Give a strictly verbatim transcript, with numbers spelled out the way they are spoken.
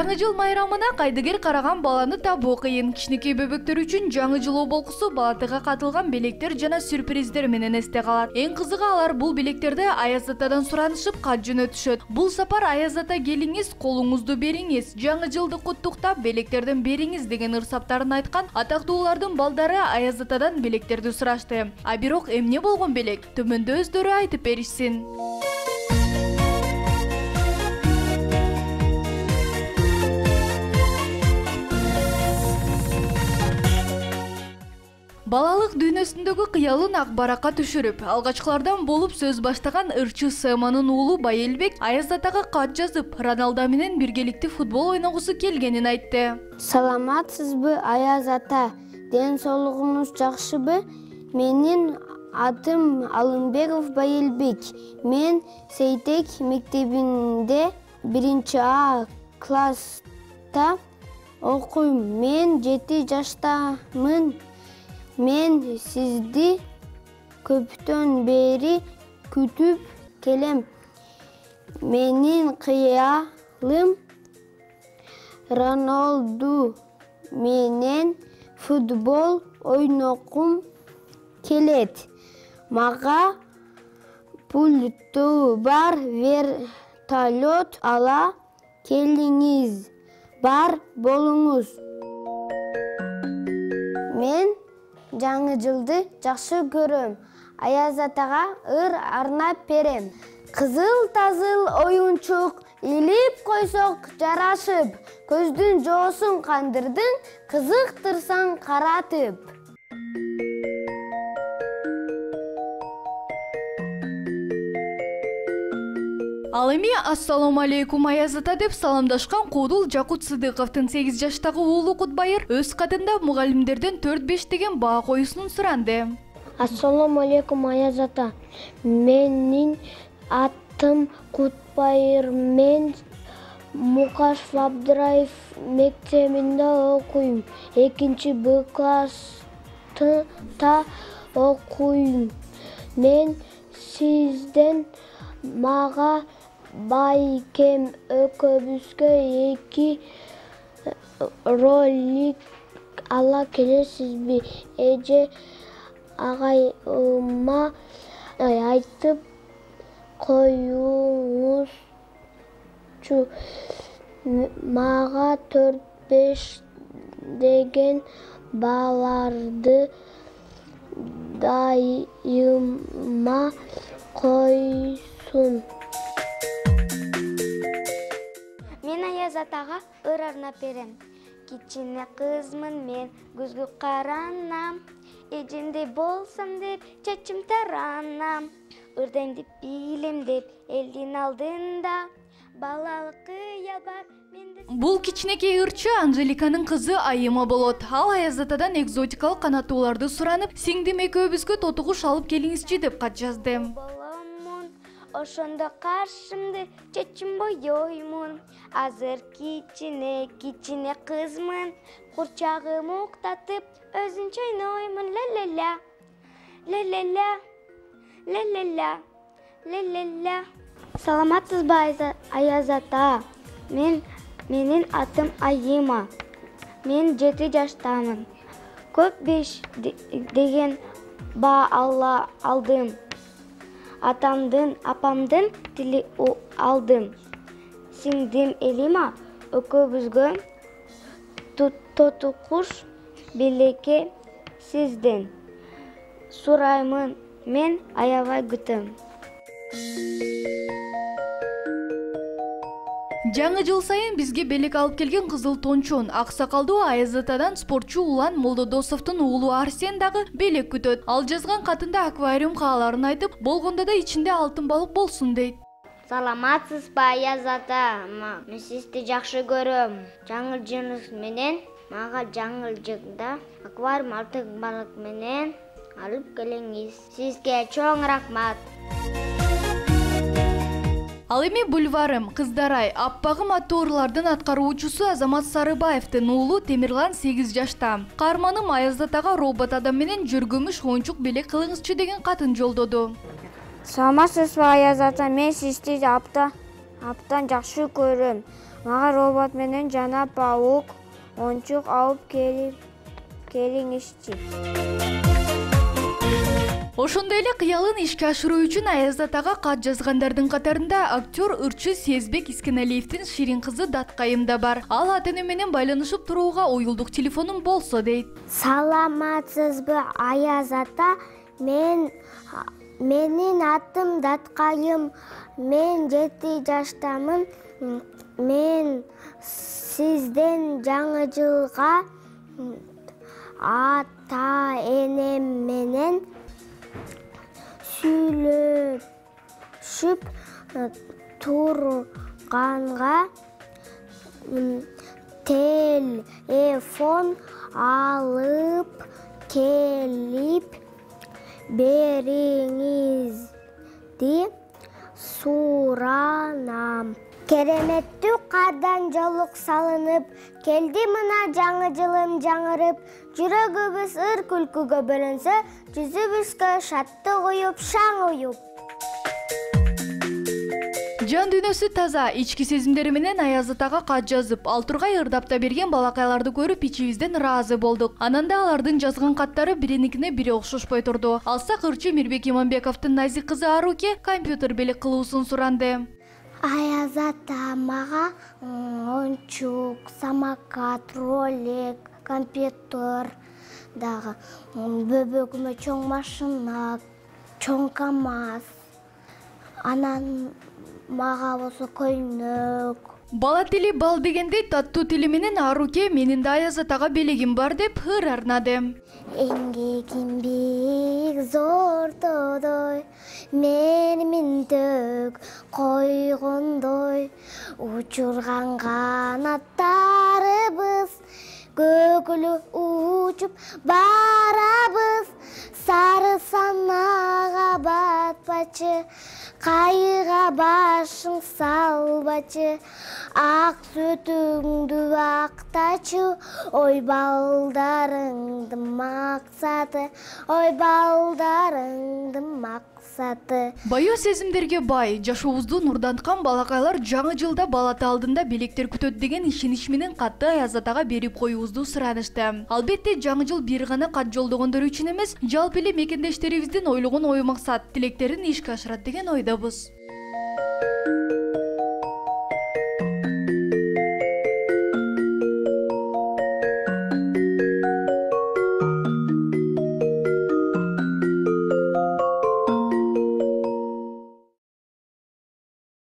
Жаңы жыл майрамына кайдыгер караган баланы табуу кыйын. Кичинекей бөбөктөр үчүн жаңы жыл оболкусу балатыга катылган белектер жана сюрприздер менен эсте калат. Эң кызыгы алар бул белектерди Аяз атадан суранышып кат жөнөтүшөт. Бул сапар Аяз ата келиңиз, колуңузду бериңиз, жаңы жылды куттуктап белектерден бериңиз деген ырсаптарын айткан атактуулардын балдары Аяз атадан белектерди сурашты. А бирок эмне болгон белек? Төмөндө өздөрү айтып беришсин. Балалык дүйнөсүндөгү кыялын ак баракка түшүрүп, алгачкылардан болуп сөз баштаган ырчы Сэманын уулу Байэлбек Аяз атага кат жазып, Роналдо менен биргеликте футбол ойногусу келгенин айтты. Саламатсызбы, Аяз ата? Ден соолугуңуз жакшыбы? Менин атым Алымбеков Байэлбек. Мен Сейтек мектебинде биринчи А класста окуйм. Мен жети жаштамын. Мен сизди көптөн бери күтүп келем. Менин кыялым Роналду менен футбол ойногум келет. Мага пульту бар вертолет ала келиңиз. Бар болуңуз. Мен жаңы жылды жакшы көрөм. Аяз атага ыр арнап берем. Кызыл тазыл оюнчук илип койсок жарашып, көздүн жоосун кандырдың, кызыктырсаң каратып. Ал эми ассаламу алейкум Аяз ата деп саламдашкан Куудул Жакут Сыдыковдун сегиз жаштагы уулу Кутбайыр өз катында мугалимдерден төрт беш деген баа коюусун суранды. Ассаламу алейкум Аяз ата. Менин атым Кутбайыр. Мен Мукашев Абдыраев мектебинде окуйм. экинчи Б класста окуйм. Мен сизден мага байкем экөөбүзгө эки ролик ала келесизби? Эже агайыма айтып коюңузчу. Мага төрт беш деген баларды дайыма койсун. Мен Аяз атага ыр арнап берем. Кичине кызмын мен, көзгө каранам. Эжемдей болсам деп, чачым таранам. Ырдайм деп билем деп, элдин алдында. Балалык кыял бар менде. Бул кичинекей ырчы Анжеликанын кызы Айыма болот. Ал Аяз атадан экзотикалык канаттууларды суранып, сиңдим экөөбүзгө тотугуш алып келиңизчи деп кат жазды. Ошондо каршымды чечим боёймун. Азыр кичине кичине кызмын. Курчагым уктатып, өзүнчө ойноймун. Ла-ла-ла. Ла-ла-ла. Ла-ла-ла. Ла-ла-ла. Саламатсызбы, Аяз ата? Мен менин атым Айыма. Мен жети жаштамын. Көп беш деген баа ала алдым. Атамдын, апамдын тили алдым. Сиңдим Элима экөөбүзгө тотукуш белекке сизден сураймын. Мен аябай күтөм. Жаңы жыл сайын бизге белек алып келген Кызыл Тончон, аксакалдуу Аяз атадан спортчу Улан Молдодосовдун уулу Арсен дагы белек күтөт. Ал жазган катында аквариум кааларын айтып, болгондо да ичинде алтын балык болсун дейт. Саламатсызбы, Аяз ата? Мен сизди жакшы көрөм. Жаңы жылыңыз менен мага жаңы жылда аквариум алтын балык менен алып келиңиз. Сизге чоң рахмат. Ал эми бульварым, кыздарай, аппагым аттуурлардын аткаруучусу Азамат Сарыбаевдин уулу Темирлан сегиз жашта. Каарманым Аяз атага робот адам менен жүргүмүш оюнчук белек кылыңызчы деген катын жолдоду. Саламатсызбы, Аяз ата? Мен сизди апта аптан жакшы көрөм. Мага робот менен жана паук оңчук алып келип келиңизчи. Ошондой эле кыялын ишке ашыруу үчүн Аяз атага кат жазгандардын катарында актер ырчы Сезбек Искеналиевдин ширин кызы Даткайым да бар. Ал ата-эне менен байланышып турууга уюлдук телефонум болсо дейт. Саламатсызбы, Аяз ата? Мен менин атым Даткайым. Мен жети жаштамын. Мен сизден жаңы жылга ата-энем менен сүйлөшүп турганга телефон алып келип бериңизди суранам. Кереметтүү кардан жолук салынып, келди мына жаңы жылым жаңырып, жүрөгүбүз ыр күлкүгө бөлөнсө, жүзүбүзгө шаттык уюп, шаң уюп. Жан дүйнөсү таза, ички сезимдери менен Аяз атага кат жазып, ал тургай ырдапта берген балакайларды көрүп ичибизден ыраазы болдук. Анан да алардын жазган каттары бириникине бири окшошпой турду. Алсак ырчы Мирбек Иманбековдун назик кызы Аруке компьютер белек кылуусун суранды. Аяз ата, мага оңчук, самокат, ролик, компьютер дагы, бөбөгүмө чоң машина, чоң КамАЗ, анан мага болсо көйнөк. Бала тили бал дегендей таттуу тили менен Аруке менин да Аяз атага белегим бар деп ыр арнады. Эмгегим бик зортодой, менин төк койгондой, учурган канаттарыбыз, көкүлү учуп барабыз, сары санага батпачы, кайыга башың салбачы, ак сүтүңдү актачы, ой балдарыңдын максаты, ой балдарыңдын максаты. Баю сезимдерге бай, жашообузду нурданткан балакайлар жаңы жылда бала ата алдында белектер күтөт деген ишенич менен катты Аяз атага берип коюубузду суранышты. Албетте жаңы жыл бир гана кат жолдогондор үчүн эмес, жалпы эле мекендештерибиздин ойлогон ой максат, тилектерин ишке ашырат деген ойдобуз.